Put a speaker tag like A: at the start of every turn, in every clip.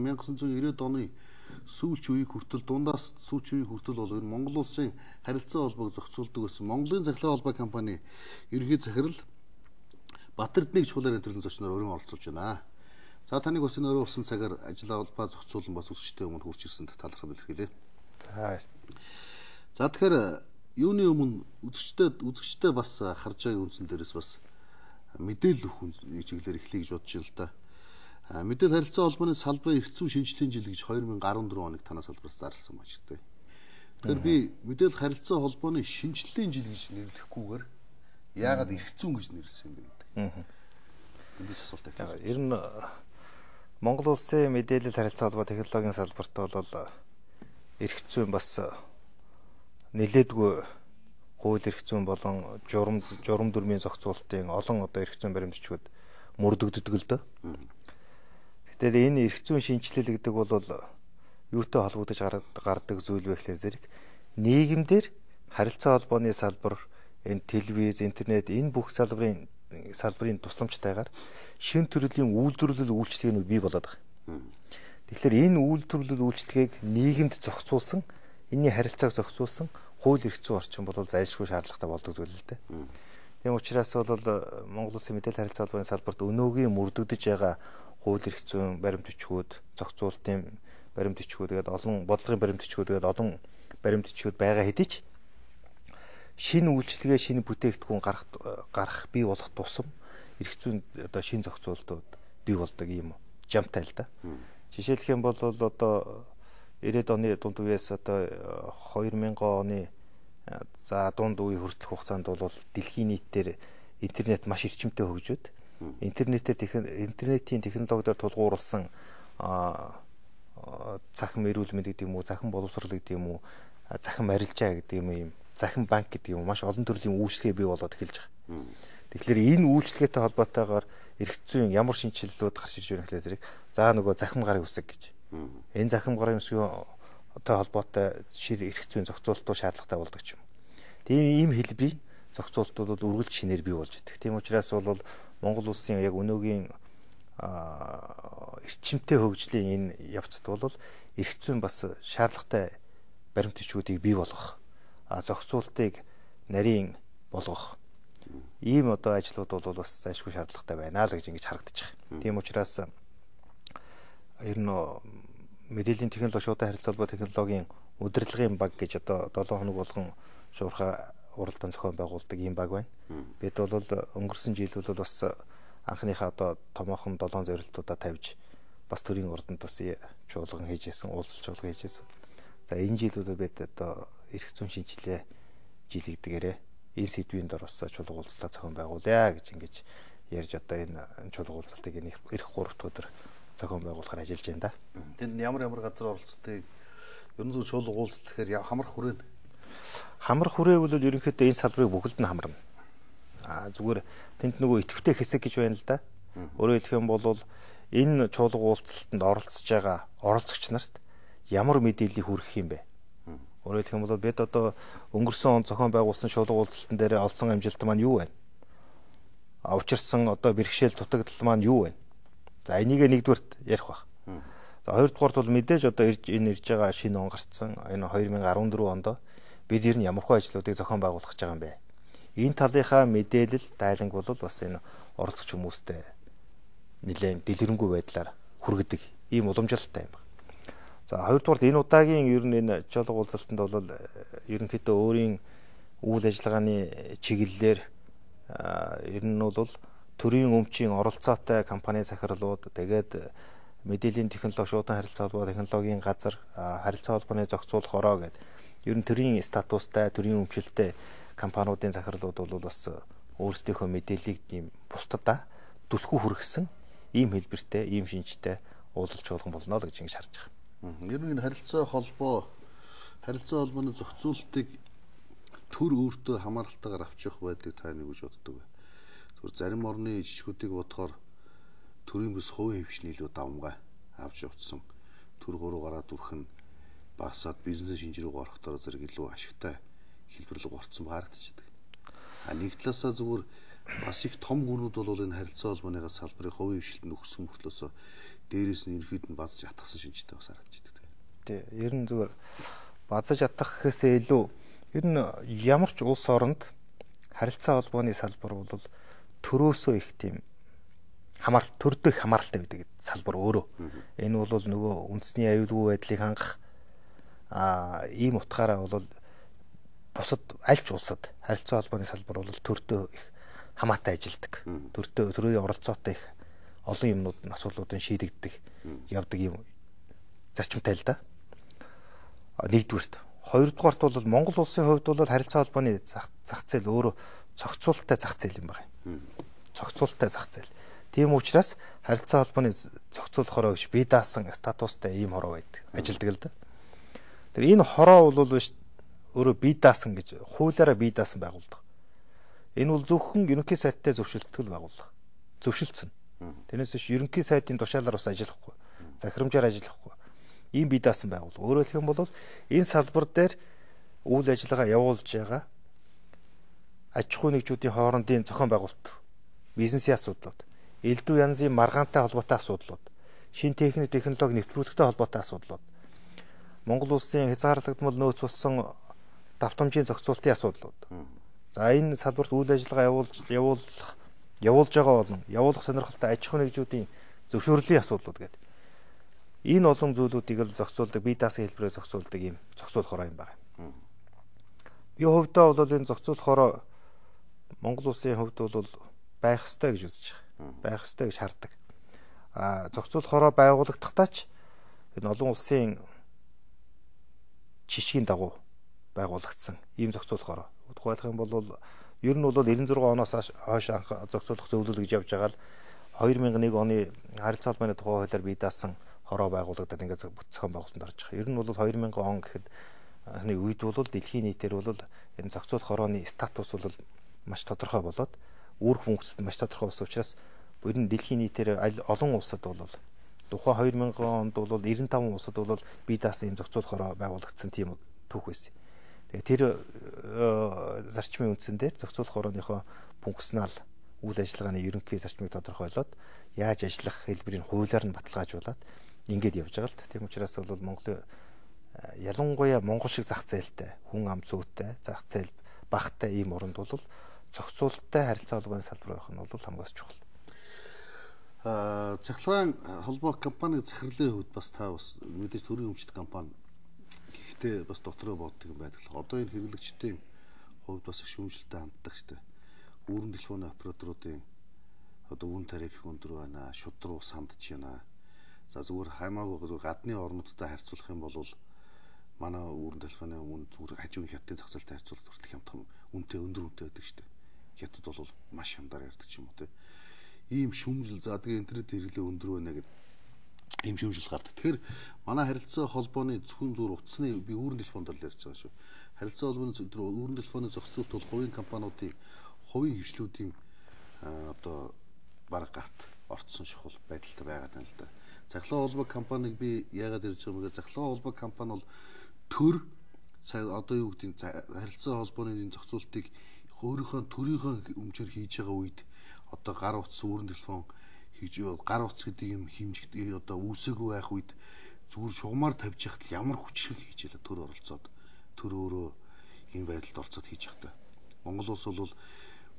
A: 1990-ад оны сүүлч үеийг хүртэл дундаас сүүлч үеийг хүртэл бол энэ Монгол улсын харилцаа холбоог зохицуулдаг гэсэн Монголын Цахилгаан холбоо компани ерөнхий захирал Батэрднийг чуулаар нэвтрүүлэн зочноор өрн оролцуулж байна. За таныг бас энэ өрөө усан цагаар ажил холбоо зохицуулан бас үзэгчтэй өмнө хүрч ирсэнд талархал илэрхийлье. За тэгэхээр юуны өмнө үзэгчтэй бас харж байгаа үндсэн дээрээс бас мэдээлэл өгөх чиглэлээр эхлэе гэж бодож байна л да. Мэдээлэл харилцаа холбооны салбарын эрх зүйн шинжилгээний жил гэж 2014 оныг танаас салбараас зарласан байна шүү дээ. Тэгэхээр би мэдээлэл харилцаа холбооны шинжилгээний жил гэж нэрлэхгүйгээр яагаад эрх зүйн гэж нэрлсэн юм бэ гэдэг. Эндээс асуулт тавьлаа.
B: Ер нь Монгол улсын мэдээлэл харилцаа холбоо технологийн салбарт бол эрх зүйн бас нэлээдгүй хууль эрх зүйн болон журам дүрмийн зохицуулалтын олон одоо эрх зүйн баримтчгууд мөрдөгддөг л дөө. Гэтэл энэ эрх зүйн шинжилэл гэдэг бол юутай холбогдож гардаг зүйл вэ гэхлээр зэрэг нийгэмдэр харилцаа холбооны салбар, энэ телевиз, интернет энэ бүх салбарын тусламжтайгаар шин төрлийн үйлдвэрлэл үйлчлэгээнүүд бий болоод байгаа. Тэгэхээр энэ үйлдвэрлэл үйлчлэгийг нийгэмд зохицуулсан, энэний харилцааг зохицуулсан хууль эрх зүйн орчин бол зайлшгүй шаардлагатай болдог зүйл л дээ. Тийм учраас бол Монгол Улсын мэдээлэл харилцаа холбооны салбарт өнөөгийн мөрдөгдөж байгаа хууль эрх зүйн баримтчгүүд, зохицуулалтын баримтчгүүд, тэгээд олон бодлогын баримтчгүүд, тэгээд олон баримтчгүүд байгаа хэдий ч шинэ үйлчлэгээ, шинэ бүтээгдэхүүн гарах бий болох тусам эрх зүйн одоо шинэ зохицуулалтууд бий болдог юм жамтай л да. Жишээлх юм бол одоо 90-ад оны дунд үеэс одоо 2000 оны за дунд үе хүртэлх хугацаанд бол дэлхийн нийтээр интернет маш эрчимтэй хөгжөөд интернетийн технологиор тулгуурласан захин эрүүл мэнд гэдэг юм уу, захин боловсрол гэдэг юм уу, захин арилжаа гэдэг юм, захин банк гэдэг юм маш олон төрлийн үйлчлэгээ бий болоод эхэлж байгаа. Тэгэхээр энэ үйлчлэгээтэй холбоотойгоор эрх зүйн ямар шинжилэлүүд гарч ирж байна гэхлээр зэрэг за нөгөө захим гарын үсэг гэж. Энэ захим гарын үсгийн холбоотой жишээ эрх зүйн зохицуулалтууд шаардлагатай болдог ч юм. Тийм ийм хэлбэрийн зохицуулалтууд бол үргэлж шинээр бий болж байдаг. Тийм учраас бол Монгол улсын яг өнөөгийн эрчимтэй хөгжлийн энэ явцад бол эрх зүйн бас шаардлагатай баримтчгүүдийг бий болгох, зохицуултыг нарийн болгох ийм одоо ажлууд бол бас зайлшгүй шаардлагатай байна л гэж ингэж харагдаж байгаа. Тийм учраас ер нь мэдээллийн технологи шуудан харилцаа холбоо технологийн удирдлагын баг гэж одоо 7 хоног болгон шуурхай уралдаан зохион байгуулдаг ийм баг байна. Бид бол өнгөрсөн жил бол бас анхныхаа одоо томоохон 7 зорилтуудаа тавьж бас төрийн ордонд бас чуулган хийжсэн, уулзалт чуулган хийжсэн. За энэ жилүүд бид одоо эрх зүйн шинжилгээ жил гэдгээрээ энэ сэдвийн дор бас чуулга уулзалтаа зохион байгуулъя гэж ингэж ярьж одоо энэ чуулга уулзалтыг эх 3 дахь өдөр зохион байгуулахаар ажиллаж байна да.
A: Тэнд ямар газар оролцдог? Ер нь зөв чуулга уулзалт гэхээр хамрах хүрээ.
B: Хамрах хүрээ бол ерөнхийдөө энэ салбарыг бүгд нь хамарна. Зүгээр тэнд нөгөө идэвхтэй хэсэг гэж байна л да. Өөрөөр хэлэх юм бол энэ чуулга уулзалтанд оролцож байгаа оролцогч нарт ямар мэдээллийг хүргэх юм бэ? Өөрөөр хэлэх юм бол бид одоо өнгөрсөн он зохион байгуулсан чуулга уулзалтан дээр олсон амжилт маань юу вэ? Учирсан одоо бэрхшээл дутагдал маань юу вэ? За энийг нэгдүгээрт ярих баг. За хоёрдугаарт бол мэдээж одоо энэ ирж байгаа шинэ он гарцсан энэ 2014 онд бид ер нь ямархуу ажлуудыг зохион байгуулах гэж байгаа юм бэ? Энэ талынхаа мэдээлэл дайланг бол бас энэ оролцогч хүмүүстэй нэлээд дэлгэрэнгүй байдлаар хүргэдэг ийм уламжлалтай юм байна. За хоёрдугаарт энэ удаагийн ер нь энэ чуулга уулзалтанд бол ерөнхийдөө өөрийн үйл ажиллагааны чиглэлээр ер нь бол төрийн өмчийн оролцоотой компани захирлууд тэгээд мэдээллийн технологи шуудан харилцаа холбоо технологийн газар харилцаа холбооны зохицуулах ороо гэдэг ер нь төрийн статустай төрийн өмчлөлтэй компаниудын захирлууд бол бас өөрсдийнхөө мэдээллийг ийм бусдадаа түлхүү хүргэсэн ийм хэлбэртэй ийм шинжтэй уулзалт чуулган болно л гэж ингэж харж байгаа.
A: Ер нь харилцаа холбооны зохицуулалтыг төр өөртөө хамааралтайгаар авч явах байдаг та нэг гэж боддог бай. Зүгээр зарим орны жижигүүдийг бодохоор төрийн бүс хувийн хвшний илүү давмгай авч явцсан. Төр гуруу гараад үрхэн багасаад бизнес шинжирүүг орохдоор зэрэг илүү ашигтай хэлбэрлэг орцсон харагдчихдаг. Нэг талаасаа зүгээр бас их том гүрүүд бол энэ харилцаа холбооныгаас салбарын хувийн хвшилтэнд өгсөн мөртлөөс дээрээс нь ерөөд нь базж атгсан шинжтэй бас харагдаж байна.
B: Тий. Ер нь зүгээр базж атгах гэхээсээ илүү ер нь ямар ч улс оронд харилцаа холбооны салбар бол төрөөсөө их тийм төрдөх хамааралтай байдаг салбар өөрөө. Энэ бол нөгөө үндэсний аюулгүй байдлыг хангах ийм утгаараа бол бусад аль ч улсад харилцаа холбооны салбар бол төрдөө их хамаатай ажилдаг. Төрийн оролцоотой их олон юмнууд асуудлуудын шийдэгддэг явдаг юм зарчимтай л да. Нэгдүгээрт. Хоёрдугаарт бол Монгол улсын хувьд бол харилцаа холбооны зах зээл өөрөө цогцолттой зах зээл юм байна. Цогцолттой зах зээл. Тийм учраас харилцаа холбооны зохицуулах хороо гэж бие даасан статустай ийм хороо байдаг. Ажилдаг л да. Тэр энэ хороо бол биш өөрөө бие даасан гэж хуулиараа бие даасан байгууллага. Энэ бол зөвхөн ерөнхий сайттай зөвшөлдсөн байгууллага. Зөвшөлдсөн. Тэрнээс биш ерөнхий сайтын тушаалаар бас ажиллахгүй. Захирамжаар ажиллахгүй. Ийм бие даасан байгууллага. Өөрөөр хэлэх юм бол энэ салбар дээр үйл ажиллагаа явуулж байгаа аж ахуй нэгжүүдийн хоорондын зохион байгуулалт, бизнесийн асуудлууд, элдв янзын маргаантай холбоотой асуудлууд, шин технологи нэвтрүүлэгтэй холбоотой асуудлууд, Монгол улсын хязгаарлагдмал нөөц болсон давтамжийн зохицуулалтын асуудлууд. За энэ салбарт үйл ажиллагаа явуулж байгаа болон явуулах сонирхолтой аж ахуй нэгжүүдийн зөвшөөрлийн асуудлууд гэдэг. Энэ олон зүйлүүдийг л зохицуулдаг, бие даасан хэлбэрээр зохицуулдаг ийм зохицуулах хороо юм байна. Би хувьдаа бол энэ зохицуулах хороо Монгол улсын хувьд бол байх ёстой гэж үзэж байгаа. Байх ёстой гэж хардаг. Зохицуулах хороо байгуулагдахтаа ч энэ олон улсын жишгийн дагуу байгуулагдсан ийм зохицуулах хороо. Тухайлх юм бол ер нь бол 96 оноос хойш анх зохицуулах зөвлөл гэж явж байгаа л 2001 оны харилцаа холбооны тухай хуулиар бие даасан хороо байгуулагдаад ингээд зохион байгуулалтанд орж байгаа. Ер нь бол 2000 он гэхэд анхны үед бол дэлхийн нийтээр бол энэ зохицуулах хорооны статус бол маш тодорхой болоод үүрэг функцэд маш тодорхой болсон учраас ер нь дэлхийн нийтээр олон улсад бол тухайн 2000 онд бол 95 улсад бол бие даасан энэ зохицуулах хороо байгуулагдсан тийм түүх байсан. Тэгээ тэр зарчмын үндсэн дээр зохицуулах хорооныхоо функционал үйл ажиллагааны ерөнхий зарчмыг тодорхойлоод яаж ажиллах хэлбэрийн хуулиар нь баталгаажуулаад ингээд явж байгаа л та. Тийм учраас бол Монголын ялангуяа Монгол шиг зах зээлтэй, хүн ам зүйтэй, зах зээл багтай ийм оронд бол зохицуулалттай харилцаа холбооны салбар байх нь бол хамгаас чухал.
A: Цахилгаан холбоо компаниг захирлын хувьд бас та бас мэдээж төрийн өмчт компани гэхдээ бас дотроо боддог юм байдаг. Одоо энэ хэрэглэгчдийн хувьд бас их шүүмжлэлтэй ханддаг штэ. Үүрэн телефоны операторуудын одоо үн тариф их өндөр байна, шудруу сандж байна. За зүгээр хаймаагүй гадны орнуудтай харьцуулах юм бол манай үүрэн телефоны үн зүгээр хажуугийн хятадын зах зээлтэй харьцуулах хүртэл хямдхан үнэтэй өндөр үнэтэй байдаг штэ. Хятад бол маш хямдаар ярьдаг ч юм уу те. Ийм шүүмжил за тэгээ интернет хэрэглээ өндөр байна гэдэг ийм шүүмжил гардаг. Тэгэхээр манай харилцаа холбооны зөвхөн зур утасны би үүрэн телефонд л ярьж байгаа шүү. Харилцаа холбооны үүрэн телефоны зохицуулалт бол хувийн компаниудын хувийн хвшлүүдийн одоо бараг гарт орцсон шахал байдалтай байгаад байна л да. Захлаа холбоо компаниг би яагаад ярьж байгаа юм бэ? Захлаа холбоо компани бол төр одоо юу гэдэг харилцаа холбооны зохицуулалтыг өөрийнхөө төрийнхөө өмчөөр хийж байгаа үед одоо гар утас үүрэн телефон хийж гар утас гэдэг юм хэмжигдээ одоо үүсээгүй байх үед зүгээр шугамар тавьж яхад ямар хүчрэг хийж ялаа төр оролцоод төр өөрөө энэ байдалд орцоод хийж явах та. Монгол улс бол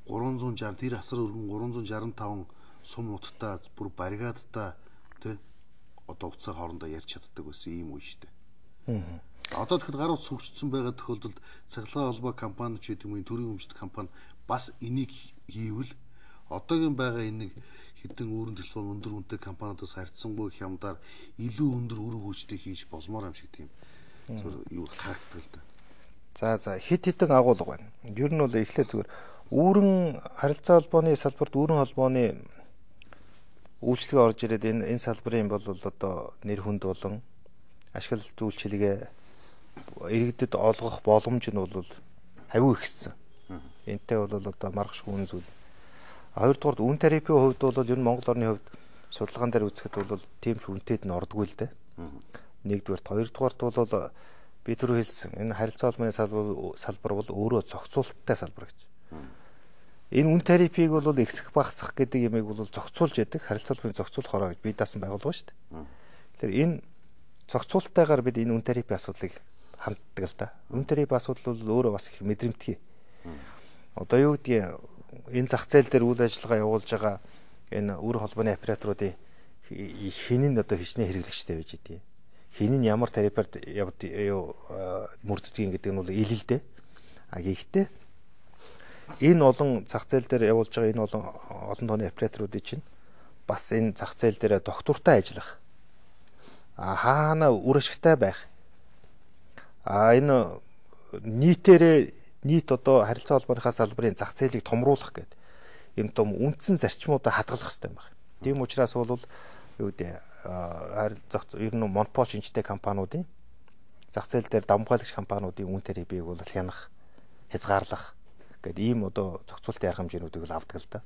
A: 360 тэр асар өргөн 365 сум нуттай бүр баригадтай тэ одоо уцаар хоорондоо ярьж чаддаг байсан ийм үе шүү дээ. Одоо тэгэхэд гар утас хөгжсөн байгаа тохиолдолд цахилгаан холбоо компани ч гэдэг юм төрийн өмчт компани бас энийг хийвэл одоогийн байгаа энийг хэдэн өөрөн телефон өндөр үнэтэй компаниудаас харьцангуй хямдаар илүү өндөр үр хөвгчтэй хийж болмоор юм шиг тийм юу харагддаг л да.
B: За хит хитэн агуулга байна. Ер нь бол эхлээд зүгээр үүрэн харилцаа холбооны салбарт үүрэн холбооны үйлчлэгээ орж ирээд энэ салбарын бол одоо нэр хүнд болон ашигла зүйлчилгээ иргэдэд олгох боломж нь бол хавь ихссэн. Энтэй бол одоо маргаш хүн зүйл. Хоёрдугаар үн тарифын хувьд бол ер нь Монгол орны хувьд судалгаан дээр үзэхэд бол тийм ч үнэтэд нь ордгүй л дээ. Нэгдүгээрт хоёрдугаарт бол би түрүү хэлсэн энэ харилцаа холбооны салбар бол өөрөө зохицуулалттай салбар гэж. Энэ үн тарифыг бол ихсэх багасгах гэдэг ямыг бол зохицуулж яадаг харилцаалбарын зохицуулах хороо гэж бий даасан байгуулга шүү дээ. Тэгэхээр энэ зохицуулалтайгаар бид энэ үн тарифын асуудлыг ханддаг л да. Үн тарифын асуудал бол өөрөө бас их мэдрэмтгий. Одоо юу гэдгийг энэ зах зээл дээр үйл ажиллагаа явуулж байгаа энэ үр холбооны операторуудын хин нь одоо хичнээн хэрэглэгчтэй байж идэв. Хин нь ямар тарифаар мөрддөг гэдэг нь бол ил л дээ. А гэхдээ энэ олон зах зээл дээр явуулж байгаа энэ олон тооны операторуудын чинь бас энэ зах зээл дээр доктортой ажиллах. Хаана үр ашигтай байх. Энэ нийт одоо харилцаа холбооныхаа салбарын зах зээлийг томруулах гэдэг юм том үндсэн зарчмуудаа хадгалах хэрэгтэй юм байна. Тийм учраас бол юу гэдэг ер нь монопол шинжтэй компаниудын зах зээл дээр давмгайлагч компаниудын үн тарифыг бол хянах, хязгаарлах гэдэг ийм одоо зохицуултын арга хэмжээнүүдийг л авдаг л да.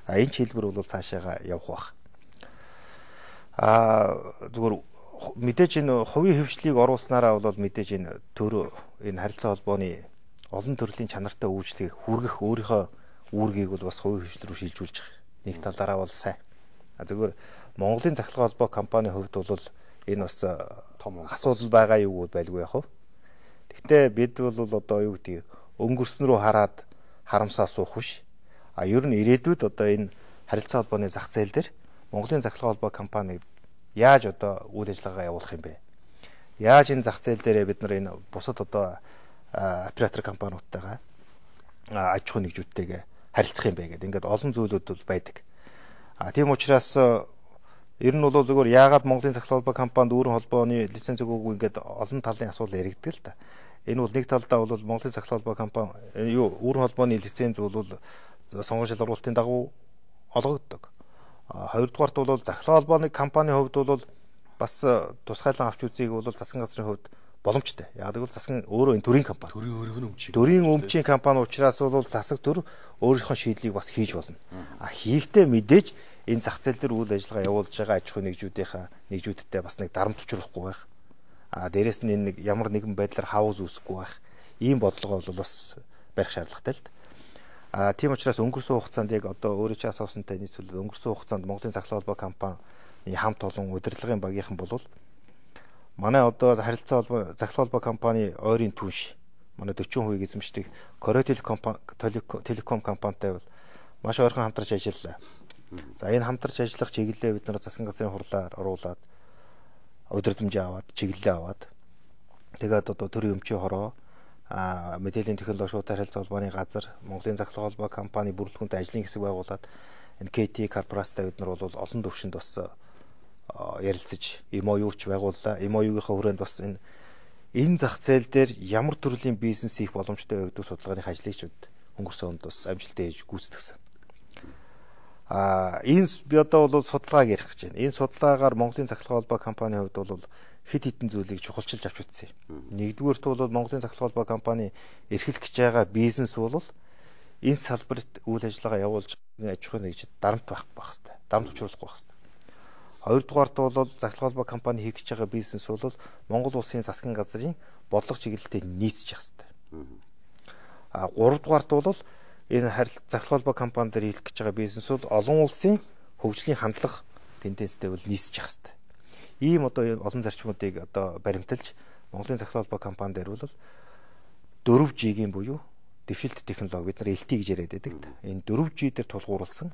B: Энэ хэлбэр бол цаашаага явах бах. Зүгээр мэдээж энэ хувийн хөвшлийг оруулснараа бол мэдээж энэ энэ харилцаа холбооны олон төрлийн чанартай үйлчлэгийг хүргэх өөрийнхөө үүргийг бол бас хувийн хөвшил рүү шилжүүлж байгаа. Нэг талаараа бол сайн. Зүгээр Монголын захирал холбоо компанийн хувьд бол энэ бас том асуудал байгаа юу байлгүй яах вэ? Гэхдээ бид бол одоо юу гэдэг өнгөрсөн рүү хараад харамсаа суух биш. Ер нь ирээдүйд одоо энэ харилцаа холбооны зах зээл дээр Монголын захирал холбоо компани яаж одоо үйл ажиллагаа явуулах юм бэ? Яаж энэ зах зээл дээр бид нар энэ бусад одоо оператор компаниудтайгаа аж ахуй нэгжүүдтэйгээ харилцах юм бэ гэдэг ингээд олон зүйлүүд бол байдаг. Тийм учраас ер нь бол зөвхөн яагаад Монголын захирал холбоо компанид өөрийн холбооны лиценз өгөөгүй ингээд олон талын асуудал яригддаг л да. Энэ бол нэг талдаа бол Монголын захирал холбоо компани өөрийн холбооны лиценз бол сонгон шалгуулалтын дагуу олгогддог. Хоёрдугаарт бол захирал холбооны компанийн хувьд бол бас тусгайлан авч үзээг бол засгийн газрын хувьд боломжтой. Яг гэвэл засгийн өөрөө энэ төрийн компани. Төрийн өмчийн компани учраас бол засаг төр өөрийнхөө шийдлийг бас хийж болно. Хийхдээ мэдээж энэ зах зээл дээр үйл ажиллагаа явуулж байгаа аж ахуй нэгжүүдтэй бас нэг дарамт учруулахгүй байх. Дээрээс нь энэ ямар нэгэн байдлаар хавз үүсэхгүй байх. Ийм бодлого бол бас барих шаардлагатай л да. Тийм учраас өнгөрсөн хугацаанд яг одоо өөрөө ч асуусантай нийцүүлээд өнгөрсөн хугацаанд Монголын захирал холбоо компани хамт олон удирдлагын багийнхан болвол манай одоо харилцаа холбоо захирал холбоо компани ойрын түнш манай 40% эзэмшдэг Корей телеком компанитай бол маш ойрхон хамтарч ажиллалаа. За энэ хамтарч ажиллах чиглэлээ бид нар засгийн газрын хурлаар оруулаад удирдамжаа аваад чиглэлээ аваад тэгээд одоо төрийн өмчийн хороо мэдээллийн технологи шууд харилцаа холбооны газар Монголын захирал холбоо компани бүрэлдэхүүнтэй ажлын хэсэг байгуулад энэ KT корпорацтай бид нар бол олон төвшөнд бас ярилцаж MOU-ч байгууллаа. MOU-гийнхаа хүрээнд бас энэ зах зээл дээр ямар төрлийн бизнес хийх боломжтой вэ гэдэг судалгааных ажлыг өнгөрсөн онд бас амжилттай хийж гүйцэтгсэн. Энэ би одоо бол судалгааг ярих гэж байна. Энэ судалгаагаар Монголын захирал холбоо компанийн хувьд бол хэд хэдэн зүйлийг чухалчилж авч үзсэн. Нэгдүгээрт бол Монголын захирал холбоо компани эрхлэх гэж байгаа бизнес бол энэ салбарт үйл ажиллагаа явуулж аж ахуй нэгжид дарамт байх хэрэгтэй. Дарамт учруулахгүй байх хэрэгтэй. Хоёрдугаарт бол захирал холбоо компани хийх гэж байгаа бизнес бол Монгол улсын засгийн газрын бодлого чиглэлтэй нийцчих хэрэгтэй. Гуравдугаарт бол энэ захирал холбоо компани дээр хийх гэж байгаа бизнес бол олон улсын хөгжлийн хандлага тенденцтэй бол нийцчих хэрэгтэй. Ийм одоо олон зарчмуудыг одоо баримталж Монголын захирал холбоо компани дээр бол 4G-ийн буюу дэвшилт технологи бид нар LTE гэж яриад байдаг. Энэ 4G дээр тулгуурласан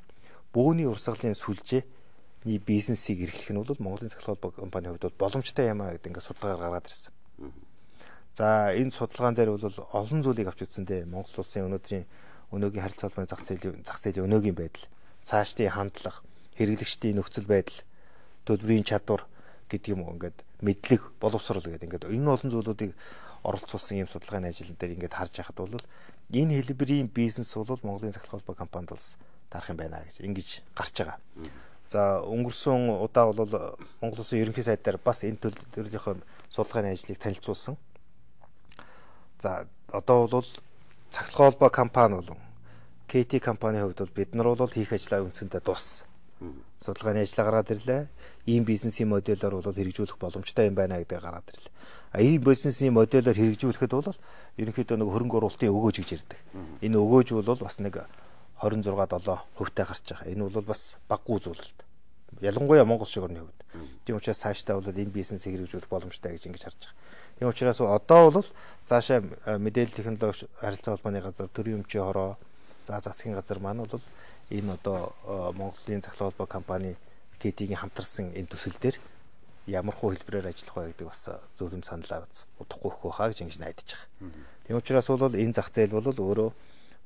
B: бөөний урсгалын сүлжээний бизнесийг эрхлэх нь бол Монголын захирал холбоо компанийн хувьд боломжтой юм а гэдэг ингээд судалгаагаар гаргаад ирсэн. За энэ судалгаан дээр бол олон зүйлийг авч үзсэндээ Монгол улсын өнөөгийн харилцаа холбооны зах зээлийн өнөөгийн байдал, цаашдын хандлага, хэрэглэгчдийн нөхцөл байдал, төлбөрийн чадвар гэдэг юм ингээд мэдлэг, боловсрол гэдэг ингээд энэ олон зүйлүүдийг оролцуулсан ийм судалгааны ажил дээр ингээд харж байхад бол энэ хэлбэрийн бизнес бол Монголын захирал холбоо компанид бол дарах юм байна гэж ингэж гарч байгаа. За өнгөрсөн удаа бол Монгол улсын ерөнхий сайд дээр бас энэ төрлийн судалгааны ажлыг танилцуулсан. За одоо бол захирал холбоо компани болон KT компанийн хувьд бол бид нар бол хийх ажлаа үндсэндээ дууссан. Судалгааны ажлаа гаргаад ирлээ. Ийм бизнесийн модельээр бол хэрэгжүүлэх боломжтой юм байна гэдэг гараад ирлээ. Ийм бизнесийн модельээр хэрэгжүүлэхэд бол ерөнхийдөө нэг хөрөнгө оруулалтын өгөөж гэж ярьдаг. Энэ өгөөж бол бас нэг 26.7%-тай гарч байгаа. Энэ бол бас баггүй зүйл л дээ. Ялангуяа Монгол шиг орны хувьд. Тийм учраас цаашдаа бол энэ бизнес хэрэгжүүлэх боломжтой гэж ингэж харж байгаа. Тийм учраас одоо бол цаашаа мэдээлэл технологи харилцаа холбооны газар, төрийн өмчийн хороо, засгийн газар маань бол энэ одоо Монголын захлах холбоо компани ТТ-ийн хамтарсан энэ төсөл дээр ямар хуу хэлбэрээр ажиллах вэ гэдэг бас зөвлөм санал аваад удахгүй өгөх хаа гэж ингэж найдаж байгаа. Тийм учраас бол энэ зах зээл бол өөрөө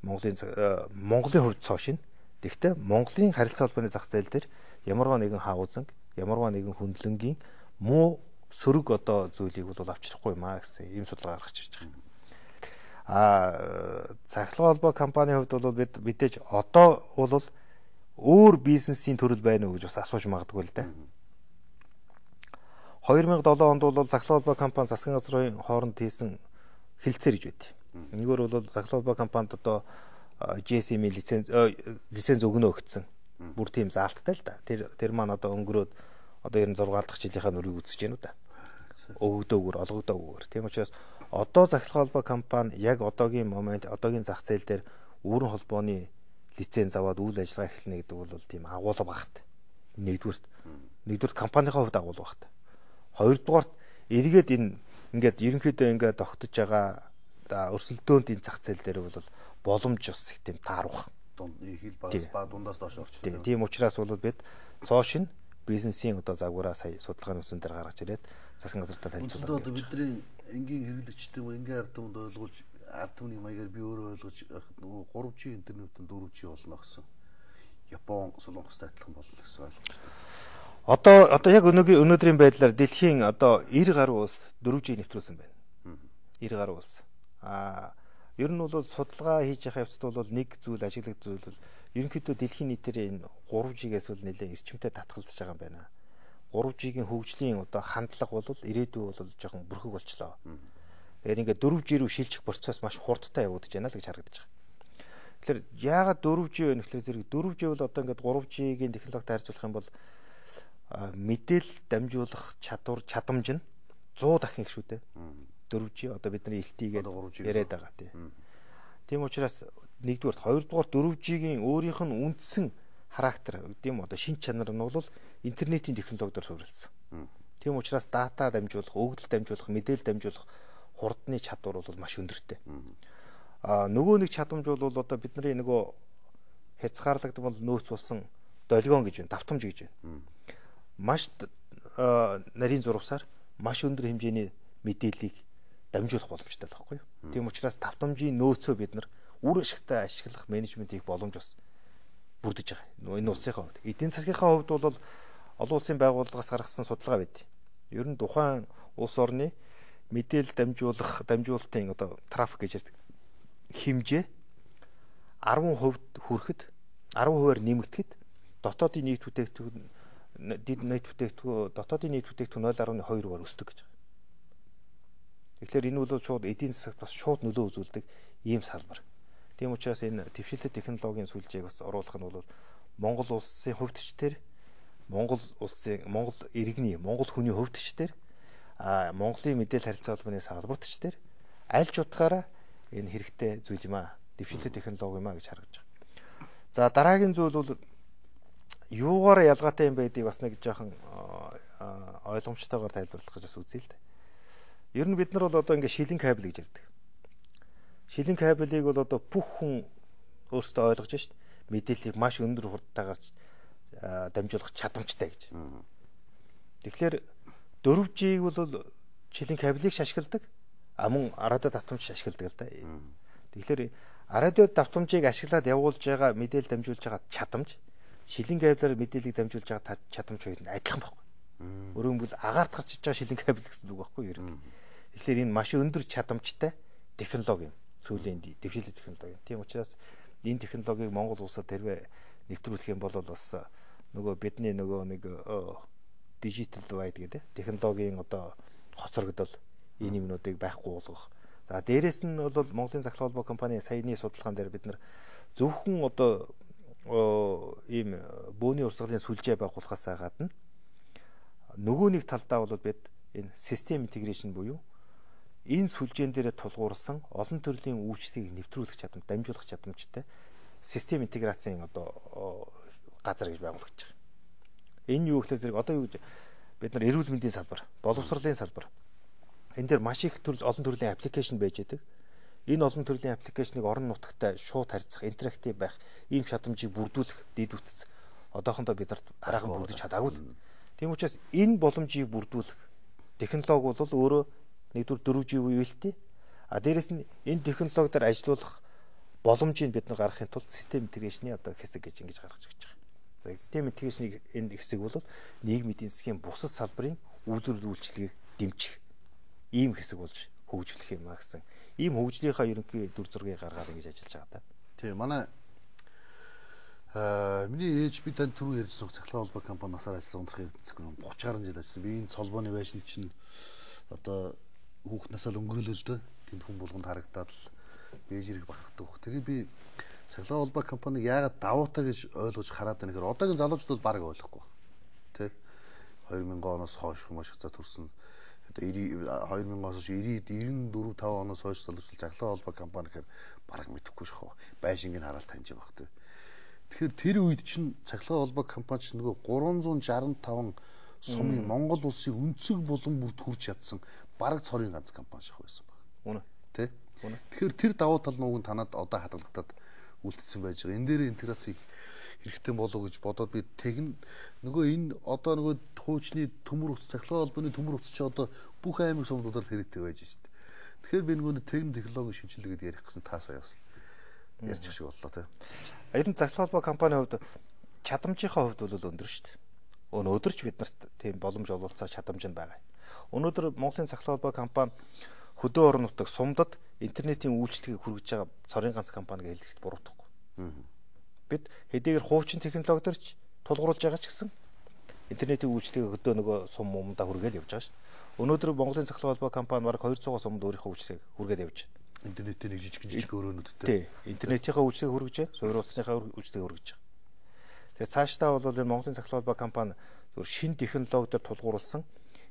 B: Монголын хувьд цоо шин. Гэхдээ Монголын харилцаа холбооны зах зээл дээр ямарваа нэгэн хаузанг, ямарваа нэгэн хөндлөнгийн муу сөрөг одоо зүйлийг бол авчрахгүй юм аа гэсэн ийм судалгаа гаргаж ирж байгаа. Захлах холбоо компанийн хувьд бол бид мэдээж одоо бол өөр бизнесийн төрөл байна уу гэж бас асууж магадгүй л дээ. 2007 онд бол захлах холбоо компани засгийн газрын хооронд хийсэн хэлэлцээр гэж байд. Нэгөр бол захлах холбоо компанид одоо GSM лиценз өгнө өгцөн. Бүр тийм заалттай л да. Тэр маань одоо өнгөрөөд одоо 96 дахь жилийнхаа нүрийг үзэж байна уу да. Өгөгдөөгөр, олгогдоогөр. Тийм учраас одоо захлах холбоо компани яг одоогийн момент, одоогийн зах зээл дээр өөрийн холбооны лиценз аваад үйл ажиллагаа эхэлнэ гэдэг бол тийм агуулга багт. Нэгдүгээр компанийнхаа хувьд агуулга багт. Хоёрдугаарт эргээд энэ ингээд ерөнхийдөө ингээд тогтож байгаа өрсөлдөөнд энэ зах зээл дээр бол боломж бас их тийм тааруулах.
A: Хил ба дундаас доош орчихсон.
B: Тийм учраас бол бид цоо шин бизнесийн одоо загвараа сая судалгааны үсэн дээр гаргаж ирээд засгийн газартай танилцуулаад.
A: Одоо бидний энгийн хэрэглэгчтэй энгийн ард түмэнд ойлгуулж ард түмний маягаар би өөрөө ойлгож нөгөө 3G интернетэн 4G болно гэсэн. Япон, Солонгостой адилхан болно гэсэн ойлгомжтой.
B: Одоо яг өнөөдрийн байдлаар дэлхийн одоо 90 гаруй улс 4G нэвтрүүлсэн байна. 90 гаруй улс. Ер нь бол судалгаа хийж явах явцад бол нэг зүйл ажиглах зүйл бол ерөнхийдөө дэлхийн нийтээр энэ 3G-гээс бол нэлээд эрчимтэй татгалзаж байгаа юм байна. 3G-ийн хөгжлийн одоо хандлага бол ирээдүй бол жоохон бүрхэг болчлоо. Тэгэхээр ингээд 4G рүү шилжих процесс маш хурдтай явагдаж байна л гэж харагдаж байгаа. Тэгэхээр яагаад 4G вэ гэхлээр зэрэг 4G бол одоо ингээд 3G-ийн технологитой харьцуулах юм бол мэдээлэл дамжуулах чадамж нь 100 дахин их шүү дээ. 4G одоо бидний LTE-гээд яриад байгаа тийм учраас нэгдүгээр, хоёрдугаар 4G-ийн өөрийнх нь үндсэн характер гэдэм одоо шин чанар нь бол интернетийн технологиор суурилсан. Тийм учраас дата дамжуулах, өгөгдөл дамжуулах, мэдээлэл дамжуулах хурдны чадвар бол маш өндөртэй. Нөгөө нэг чадамж бол одоо бидний нөгөө хязгаарлагдсан бол нөөц болсон долгион гэж байна, давтамж гэж байна. Маш нарийн зурвасаар маш өндөр хэмжээний мэдээллийг дамжуулах боломжтой л байхгүй юу. Тийм учраас давтамжийн нөөцөө бид нар үр ашигтай ашиглах менежментийг боломж бас бүрдэж байгаа. Энэ улсынхаа хувьд. Эдийн засгийнхаа хувьд бол олон улсын байгууллагаас гаргасан судалгаа байд. Ер нь тухайн улс орны мэдээлэл дамжуулалтын одоо трафик гэж ярьдаг хэмжээ 10% хүрэхэд 10%-аар нэмэгдэхэд дотоодын нийт бүтээгдэхүүн дотоодын нийт бүтээгдэхүүн 0.2%-аар өсдөг гэж. Тэгэхээр энэ бол шууд эдийн засагт бас шууд нөлөө үзүүлдэг ийм салбар. Тийм учраас энэ дэвшилтэт технологийн сүлжээг бас оруулах нь бол Монгол улсын хувьд ч тэр Монгол иргэний, Монгол хүний хувьд ч тэр Монголын мэдээлэл харилцаа холбооны салбарт ч тэр аль ч утгаараа энэ хэрэгтэй зүйл юм аа. Дэвшилтэт технологи юм аа гэж харагдаж байгаа. За дараагийн зүйл бол юугаар ялгаатай юм байдгийг бас нэг жоохон ойлгомжтойгоор тайлбарлах гэж бас үзье л дээ. Ер нь бид нар бол одоо ингээд шилэн кабель гэж ярьдаг. Шилэн кабелийг бол одоо бүх хүн өөрсдөө ойлгож шít. Мэдээллийг маш өндөр хурдтайгаар дамжуулах чадамжтай гэж. Тэгэхээр 4G-г бол шилэн кабелийг ашигладаг. Мөн радио давтамж ашигладаг л да. Тэгэхээр радио давтамжийг ашиглаад явуулж байгаа мэдээлэл дамжуулж байгаа чадамж шилэн кабелээр мэдээллийг дамжуулж байгаа чадамж хоёр нь адилхан байхгүй. Өөрөөр хэлбэл агаарт гарч иж байгаа шилэн кабель гэсэн үг байхгүй юу? Тэгэхээр энэ маш өндөр чадамжтай технологи юм. Сүүлийн дэвшилтэт технологи. Тийм учраас энэ технологиг Монгол улсад хэрвээ нэвтрүүлэх юм бол бас нөгөө бидний нөгөө нэг digital divide гэдэг технологийн одоо хоцрогдол энэ юмнуудыг байхгүй болгох. За дээрэс нь бол Монголын захлах холбоо компани саяны судалгаан дээр бид нар зөвхөн одоо ийм бөөний урсгалын сүлжээ байгуулахаас гадна нөгөө нэг талдаа бол бид энэ систем интеграшн буюу энэ сүлжээн дээр тулгуурсан олон төрлийн үйлчлэгийг нэвтрүүлэх чадамж, дамжуулах чадамжтай систем интеграцийн одоо газар гэж байгуулагдаж байгаа. Энэ юу гэхээр зэрэг одоо юу гэж бид нар эрүүл мэндийн салбар, боловсролын салбар энэ дээр маш их олон төрлийн аппликейшн байж байдаг. Энэ олон төрлийн аппликейшнийг орон нутагтай шууд харьцах, интерактив байх, ийм чадамжийг бүрдүүлэх дэд үтс одоохондоо бид нарт арайхан бүрдэж чадаагүй. Тийм учраас энэ боломжийг бүрдүүлэх технологи бол өөрөө нэгдүгээр 4G үеэлтэй. А дээрэс нь энэ технологи дээр ажиллах боломжийг бид нар гаргахын тулд систем интеграшны одоо хэсэг гэж ингэж гаргаж өгч байгаа. За систем интеграшны энэ хэсэг бол нийгмийн эдийн засгийн бусад салбарын үйлдвэрлэл үйлчилгээг дэмжих ийм хэсэг болж хөгжүүлэх юм а гэсэн. Ийм хөгжлийнхаа ерөнхий дүр зургийг гаргаад ингэж ажиллаж байгаа да.
A: Тийм манай миний ээж би танд түрүү ярьсан цахилгаан холбоо компани насаар ажилласан ундрах эрдэнэс 30 гаруй жил ажилласан. Би энэ холбооны байшин чинь одоо хүүхд насаа л өнгөрөөлөө л дээ. Тэнд хүн болгонд харагдаад л бэж ирэх бахархдаг. Тэгээ би цахилгаан холбоо компаниг яагаад давуу таа гэж ойлгож хараад байна гэхээр одоогийн залуучууд баг ойлгохгүй байна. Тэ 2000 оноос хойш маш их за төрсөн. Одоо 2000-оос 94 5 оноос хойш залуучууд цахилгаан холбоо компани гэхээр баг мэдэхгүй шахав. Байшинг нь хараад таньж байгаа хэрэг. Тэгэхээр тэр үед чинь цахилгаан холбоо компани чинь нөгөө 365 сумын Монгол улсын өнцөг булан бүрт хүрч чадсан бараг цорын ганц компани шах байсан баг.
B: Үнэ.
A: Тэ? Тэгэхээр тэр давуу тал нууг нь танад одоо хадгалагдаад үлдсэн байж байгаа. Энэ дээр интеграц их хэрэгтэй болов гэж бодоод би тэгн нөгөө энэ одоо нөгөө хуучны төмөр утас цахилгаан холбооны төмөр утас чи одоо бүх аймаг сумдуудаар хэрэгтэй байж шít. Тэгэхээр би нөгөө техник технологийн шинжилгээ гэдэг ярих гэсэн таас аяасан. Ярьчих шиг боллоо тэ.
B: Ер нь цахилгаан холбоо компанийн хувьд чадамжийнхаа хувьд бол өндөр шүү дээ. Өнөөдөр ч бид нарт тийм боломж олголцоо чадамж нь байгаа. Өнөөдөр Монголын цахилгаан холбоо компани хөдөө орон нутаг сумдад интернетийн үйлчлэгийг хүргэж байгаа цорын ганц компани гэж хэлэхэд буруутахгүй. Бид хэдийгээр хуучин технологиорч тулгуурлаж байгаа ч гэсэн интернетийн үйлчлэгийг хөдөө нөгөө сум мумдаа хүргээл явж байгаа шүү дээ. Өнөөдөр Монголын цахилгаан холбоо компани бараг 200 сумд өөрийнхөө үйлчлэгийг хүргээд явж байна.
A: Интернетийн нэг жижиг өрөөнүүдтэй.
B: Тий. Интернетийнхаа үйлчлэгийг хүргэж, суурь утасныхаа үйлчлэгийг хүргэж байгаа. Тэгэхээр цаашдаа бол энэ Монголын цахилгаан холбоо компани зөвхөн шинэ технологиор тулгуурласан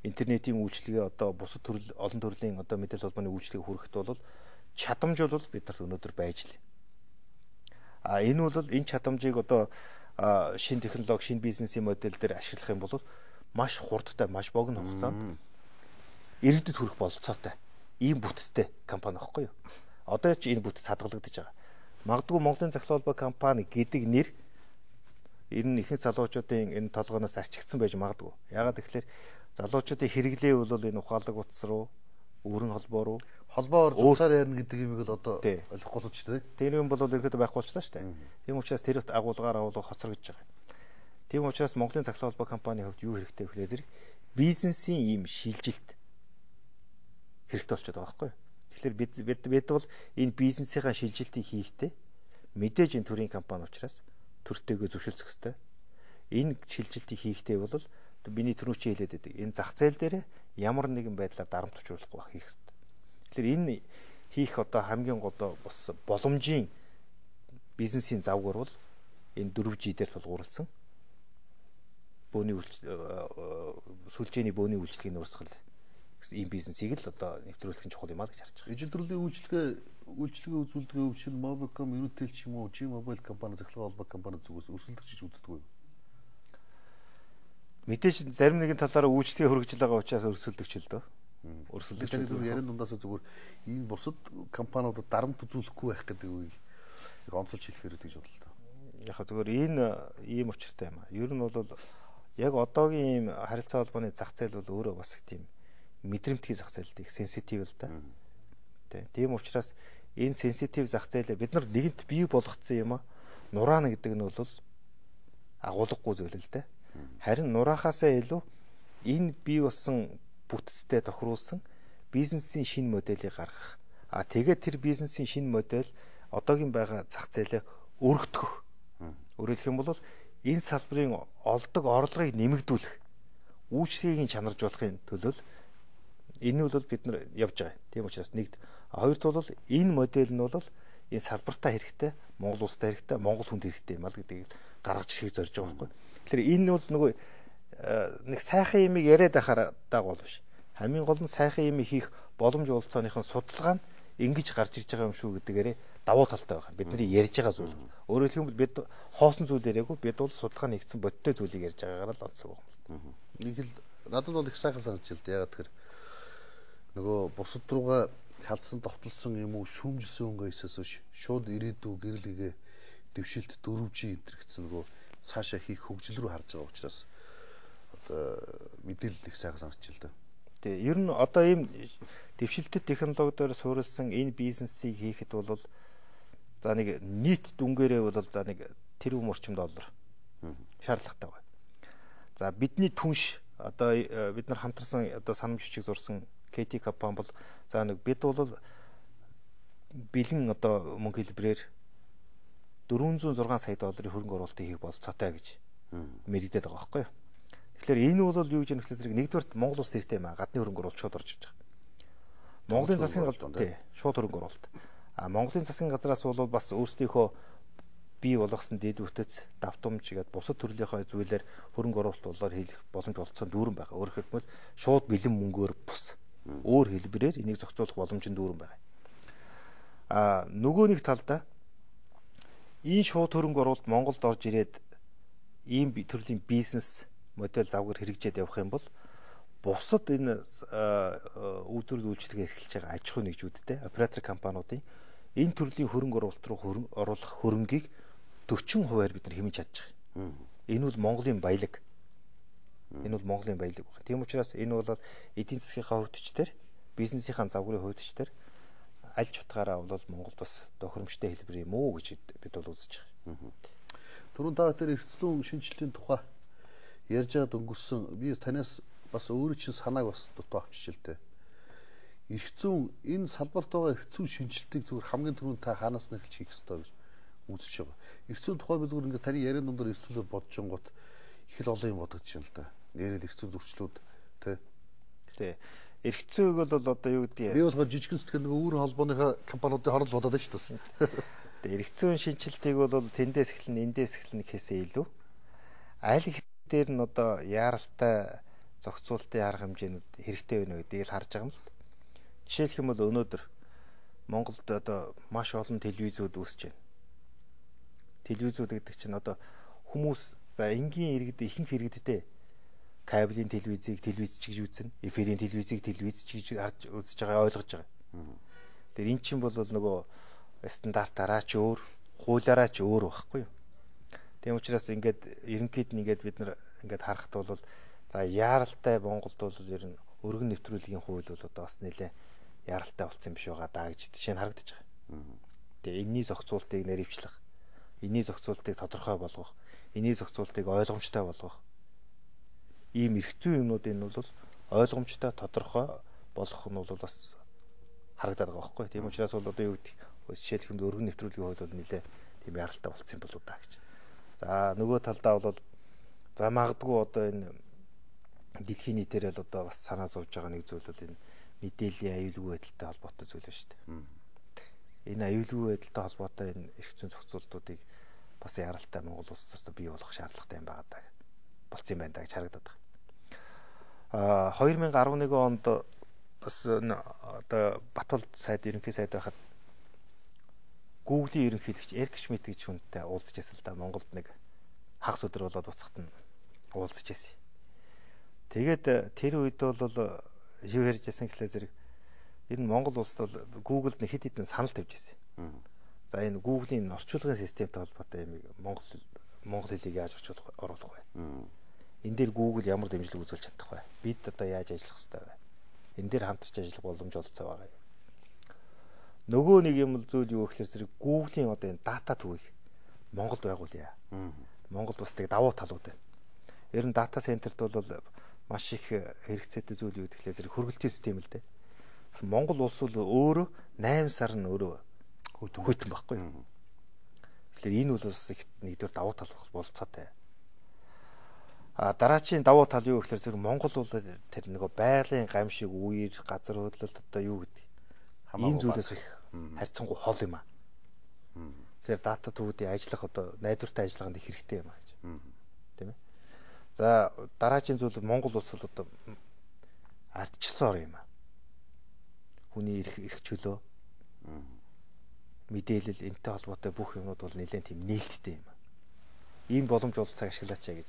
B: интернетийн үйлчлэгээ одоо бусад төрөл олон төрлийн одоо мэдээлэл холбооны үйлчлэгийг хүргэхэд бол чадамж бол биднэрт өнөөдөр байж лээ. А энэ бол энэ чадамжийг одоо шинэ технологи, шинэ бизнесийн модель дээр ашиглах юм бол маш хурдтай, маш богино хугацаанд иргэдэд хүрэх бололцоотой ийм бүтцтэй компани аахгүй юу? Одоо ч энэ бүтц хадгалагдаж байгаа. Магадгүй Монголын цахилгаан холбоо компани гэдэг нэр энэ ихэнх залуучуудын энэ толгоноос арчигдсан байж магадгүй. Яагаад гэвэл залуучуудын хэрэглээ бол энэ ухаалаг утас руу, өрн холбоо руу,
A: холбоор зурсаар ярина гэдэг юм бол одоо ойлгохгүй л ч тийм.
B: Тэр юм бол ерөөдөө байхгүй болчихлоо шүү дээ. Тийм учраас тэр агуулгаар хоцрогдож байгаа. Тийм учраас Монголын цахилгаан холбоо компанийн хувьд юу хэрэгтэй вэ гэхээр бизнесийн ийм шилжилт хэрэгтэй болчиход байгаа байхгүй юу? Тэгэхээр бид бол энэ бизнесийнхаа шилжилтийг хийхдээ мэдээж энэ төрийн компани учраас төртэйгөө зөвшөлдөх хэрэгтэй. Энэ шилжилтийг хийхдээ бол миний түрүү чи хэлээд байдаг. Энэ зах зээл дээр ямар нэгэн байдлаар дарамт учруулахгүй байх хийх хэрэгтэй. Тэгэхээр энэ хийх одоо хамгийн гол бас боломжийн бизнесийн завгаар бол энэ 4G дээр тулгуурласан бөөний сүлжээний бөөний үйлчлэгийн урсгал ийм бизнесийг л одоо нэвтрүүлэх нь чухал юм аа гэж харж байгаа.
A: Ижил төрлийн үйлчлэгээ үзүүлдэг өвчин Mobicom, Unitel ч юм уу, G-Mobile компани, цахилгаан холбоо компани зүгээс өрсөлдөгч гэж үздэг үү?
B: Мэдээж зарим нэгэн талаараа үйлчлэгээ хөргөж байгаа учраас өрсөлдөгч л дөө. Өрсөлдөгч
A: ярин дундаас зүгээр энэ бусад компаниудад дарамт үзүүлэхгүй байх гэдэг үгийг яг онцолж хэлэхээр гэж бодлоо.
B: Яг зүгээр энэ ийм учиртай юм аа. Ер нь бол яг одоогийн ийм харилцаа холбооны зах зээл бол өөрөө бас их тийм мэдрэмтгий зах зээлтэй их сенситив л да. Тийм учраас энэ сенситив зах зээлээ бид нар нэгэнт бий болгоцсон юм аа. Нураана гэдэг нь бол агуулгагүй зүйл л да. Харин нураахаасаа илүү энэ бий болсон бүтцтэй тохируулсан бизнесийн шинэ модельийг гаргах. А тэгээд тэр бизнесийн шинэ модель одоогийн байгаа зах зээлээ өргөдгөх. Өөрөөр хэлэх юм бол энэ салбарын олдог орлогыг нэмэгдүүлэх, үйлчлэгийг чанаржуулахын төлөө энэ бол бид нар явж байгаа. Тийм учраас нэгд хоёрт бол энэ модель нь бол энэ салбартаа хэрэгтэй, Монгол улстай хэрэгтэй, Монгол хүнд хэрэгтэй юм аа гэдгийг гаргаж ирхийг зорж байгаа байхгүй. Тэгэхээр энэ бол нөгөө нэг сайхан юмыг яриад байхаар дагуул биш. Хамгийн гол нь сайхан юм хийх боломж олцооныхын судалгаа нь ингэж гарч ирж байгаа юм шүү гэдэгээрээ давуу талтай байгаа. Бидний ярьж байгаа зүйл. Өөрөөр хэлбэл бид хоосон зүйл яриаггүй бид бол судалгаа нэгдсэн бодиттой зүйлийг ярьж байгаагаар л онцлог байна.
A: Нэг л надад бол их сайхан санагдаж байна. Ягаад тэгэхээр нөгөө бусад руугаа халдсан довтлсон юм уу шүүмжилсэн өнгөөсөөс биш шууд ирээдүй гэрэлгээ дэвшилт 4G энтер гэсэн нөгөө цаашаа хийх хөгжил рүү харж байгаа учраас одоо мэдээлэл их сайхан санагдаж байна.
B: Тэгээ ер нь одоо ийм дэвшилтэт технологиор суурилсан энэ бизнесийг хийхэд бол за нэг нийт дүнгээрээ бол за нэг тэрбум орчим доллар шаардлагатай байна. За бидний түнш одоо бид нар хамтарсан одоо санамж бичиг зурсан KT компани бол за нэг бид бол бэлэн одоо мөнгө хэлбэрээр 406 сая долларын хөрөнгө оруулалтыг хийх болцоотой гэж мэдэгдээд байгаа байхгүй юу. Тэгэхээр энэ бол юу гэж нэхлэх зэрэг нэгдүгээр Монгол улс хэрэгтэй юм аа. Гадны хөрөнгө оруулалт шууд орж иж байгаа. Монголын засгийн газар тий шууд хөрөнгө оруулалт. Монголын засгийн газраас бол бас өөрсдийнхөө бий болгосон дэд үтц давтамж гээд бусад төрлийнхөө зүйлээр хөрөнгө оруулалт хийх боломж олцсон дүүрэн байгаа. Өөрөөр хэлбэл шууд бэлэн мөнгөөр бус өөр хэлбэрээр энийг зохицуулах боломж нь дүүрэн байгаа. Нөгөө нэг талдаа энэ шууд хөрөнгө оруулалт Монголд орж ирээд ийм төрлийн бизнес модель завгаар хэрэгжээд явах юм бол бусад энэ үйлдвэрлэл үйлчлэгээ эрхэлж байгаа аж ахуй нэгжүүдтэй оператор компаниудын энэ төрлийн хөрөнгө оруулалт руу оруулах хөрөнгийг 40%-аар бид нар хэмжиж чадж байгаа. Энэ бол Монголын баялаг. Энэ бол Монголын баялаг байна. Тийм учраас энэ бол эдийн засгийнхаа хөвтчдэр бизнесийнхаа завгарын хөвтчдэр аль ч утгаараа бол Монголд бас тохиромжтой хэлбэр юм уу гэж бид бол үзэж байгаа.
A: Түрүүн та тэр эрхцлэн шинжилтийн тухай ярьж байгаад өнгөрсөн би танаас бас өөрөө чинь санааг бас дутуу авчиж л дээ. Эрхцэн энэ салбарт байгаа эрхцэн шинжилтийг зүгээр хамгийн түрүүнд та хаанаас нь эхэлж хийх ёстой гэж үзэж байгаа. Эрхцэн тухай би зүгээр ингээд таны яриан дундаар эрхцүүлээ бодож гот их л олон юм бодогдож байна л да. Нэрэл эрхцэн зөрчлүүд тий.
B: Эрхцээг бол одоо юу гэдгийг
A: би болохоор жижигэн сэтгэл нэг өөрийн холбооныхаа компаниудын хооронд бодоод байна шүү дээ.
B: Тэгээ эрхцэн шинжилтийг бол тэндээс эхлэн эндээс эхлэн гэхээсээ илүү аль их дээр нь одоо яаралтай зохицуултын арга хэмжээнүүд хэрэгтэй байна гэдгийг л харж байгаа юм л. Жишээлх юм бол өнөөдөр Монголд одоо маш олон телевизүүд үүсэж байна. Телевизүүд гэдэг чинь одоо хүмүүс за энгийн иргэд ихэнх иргэдтэй кабелийн телевизийг телевиз ч гэж үзнэ, эфирийн телевизийг телевиз ч гэж харж үзэж байгаа ойлгож байгаа. Тэр эн чинь бол нөгөө стандартаараа ч өөр, хуулиараа ч өөр байхгүй юу? Тийм учраас ингээд ерөнхийд нь ингээд бид нар ингээд харахад бол за яаралтай Монголд бол ер нь өргөн нэвтрүүлгийн хууль бол одоо бас нэлээ яаралтай болсон юм биш байгаа даа гэж жишээ нь харагдаж байгаа. Тэгээ энэний зохицуултыг нэривчлэх, энэний зохицуултыг тодорхой болгох, энэний зохицуултыг ойлгомжтой болгох ийм эрхцүү юмнуудын нь бол ойлгомжтой тодорхой болгох нь бол бас харагдаад байгаа байхгүй. Тийм учраас бол одоо юу гэдэг жишээлх юм өргөн нэвтрүүлгийн хууль бол нэлээ тийм яаралтай болсон юм болоо даа гэж. За нөгөө талдаа бол за магадгүй одоо энэ дэлхийн нийтээр л одоо бас санаа зовж байгаа нэг зүйл бол энэ мэдээллийн аюулгүй байдалтай холбоотой зүйл байна шүү дээ. Энэ аюулгүй байдалтай холбоотой энэ эрх зүйн зохицуултуудыг бас яралтай Монгол улсаас бий болгох шаардлагатай юм байгаа даа. Болцсон юм байна даа гэж харагдаад байгаа. 2011 онд бас одоо Батболд сайд ерөнхий сайд байхад Google-ийн ерөнхийлөгч Эрик Шмидт гэж хүнтэй уулзж байсан л да. Монголд нэг хагас өдөр болоод уцахт нь уулзж байсан. Тэгээд тэр үед бол юу ярьж байсан гэхлээр зэрэг энэ Монгол улсд бол Google-д нэг хэд хэдэн санал тавьж байсан. За энэ Google-ийн орчуулгын системтэй холбоотой юм Монгол хэлийг яаж оруулах вэ? Энэ дээр Google ямар дэмжлэг үзүүлж чадах вэ? Бид одоо яаж ажиллах ёстой вэ? Энэ дээр хамтарч ажиллах боломж олцоо байгаа юм. Нөгөө нэг юм зүйл юу гэхлээр зэрэг Google-ийн одоо энэ дата төвийг Монголд байгуулъя. Монголд бас тэг давуу талууд байна. Ер нь дата центрт бол маш их хэрэгцээтэй зүйл юу гэхлээр зэрэг хөргөлтийн систем л дээ. Монгол улс бол өөрөө 8 сар нь өөрөө хөтөн байхгүй юу. Тэгэхээр энэ бол бас нэгдүгээр давуу тал болцоотой. Дараачийн давуу тал юу гэхлээр зэрэг Монгол бол тэр нөгөө байгалийн гамшиг үер газар хөдлөлт одоо юу гэдэг энэ зүйлээс их харьцангуй хол юм аа. Тэгэхээр дата төвүүдийн ажиллах одоо найдвартай ажиллагаанд их хэрэгтэй юм аа гэж. Тийм ээ. За дараачийн зүйл Монгол улс бол одоо ардчилсан ор юм аа. Хүний эрх чөлөө мэдээлэл энтэй холбоотой бүх юмнууд бол нэлээд тийм нээлттэй юм. Ийм боломж бол цаг ашиглаач гэж.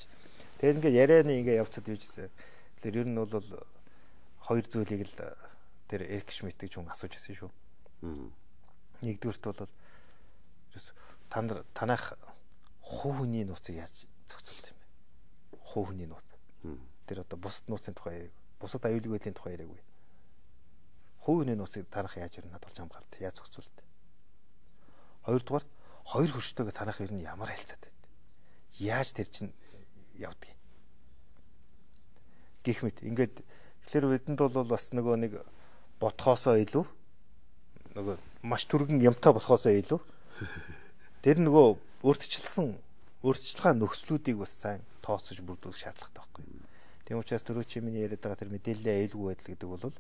B: Тэгээд ингээд ярианы ингээд явцад юужсэн. Тэгэхээр ер нь бол хоёр зүйлийг л тэр Эрик Шмидт гэж хүн асууж ирсэн шүү. Нэгдүгürt бол танах хувийн нууцыг яаж зохицуулт юм бэ? Хувийн нууц. Тэр одоо бусад нууцын тухай яриаг, бусад аюулгүй байдлын тухай яриаг. Хувийн нууцыг танах яаж ирнэ надад хамгаалт, яаж зохицуулт. Хоёрдугаар хоёр хөрштөөгөө танах ер нь ямар харилцаатай вэ? Яаж тэр чинь явдаг юм? Гэх мэт ингээд тэгэхээр бидэнд бол бас нөгөө нэг бодхоосоо илүү нөгөө маш түргэн юмтай болохоосоо илүү тэр нөгөө өөрчлөлтийн нөхцлүүдийг бас сайн тооцож бүрдүүлэх шаардлагатай байхгүй. Тийм учраас түрүү чи миний яриад байгаа тэр мэдээллийн аюулгүй байдал гэдэг бол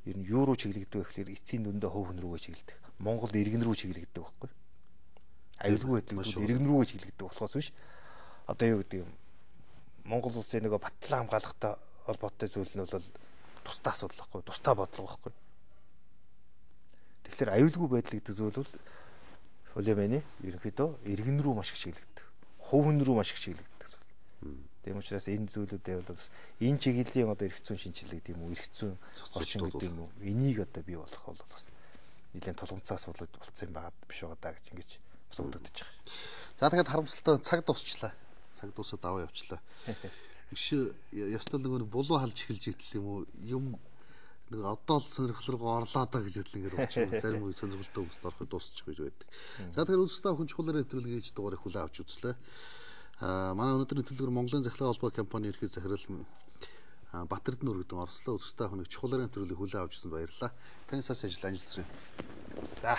B: ер нь юу руу чиглэгдэх вэ гэхээр эцсийн дүндээ хувь хүн рүүгээ чиглэдэг. Монгол иргэн рүү чиглэгдэх байхгүй. Аюулгүй байдал бол иргэн рүүгээ чиглэгдэх болохоос биш. Одоо юу гэдэг юм? Монгол улсын нөгөө батлан хамгаалахтай холбоотой зүйл нь бол тусдаа асуудал байхгүй, тусдаа бодлого байхгүй. Тэгэхээр аюулгүй байдал гэдэг зүйл бол Улиманы ерөнхийдөө иргэн рүү маш их чиглэгддэг. Хувийн рүү маш их чиглэгддэг зүйл. Тийм учраас энэ зүйлүүдээ бол бас энэ чиглэлийн одоо эрх зүйн шинжилгээ гэдэг юм уу, эрх зүйн орчин гэдэг юм уу, энийг одоо бий болох бол бас нэлээд тулгымцаа асуудал болцсон юм байгаа биш байгаа даа гэж ингэж бас бодогдож байгаа.
A: За тэгэхээр харамсалтай цаг дуусчлаа. Цаг дуусаад аваа явчлаа. Биш ястал нөгөө булуу халж эхэлж итэл юм уу юм нэг одоо л сонирхол руу орлоо даа гэж хэлэн ингээд болчих. Зарим үе сонирхолтой хүмүүст ороход дуусчих гэж байдаг. За тэгэхээр үзэлтэй хүн чухал нэвтрүүлэг хийж дугаарыг хүлээн авч үзлээ. Манай өнөөдрийн төлөвлөгөр Монголын захирал холбоо компани ерхий захирал Батэрдэн өргөдөн орслоо үзэлтэй хүнийг чухал нэвтрүүлэг хүлээн авч ирсэн баярлалаа. Таны сас ажил амжилт хүсье.
B: За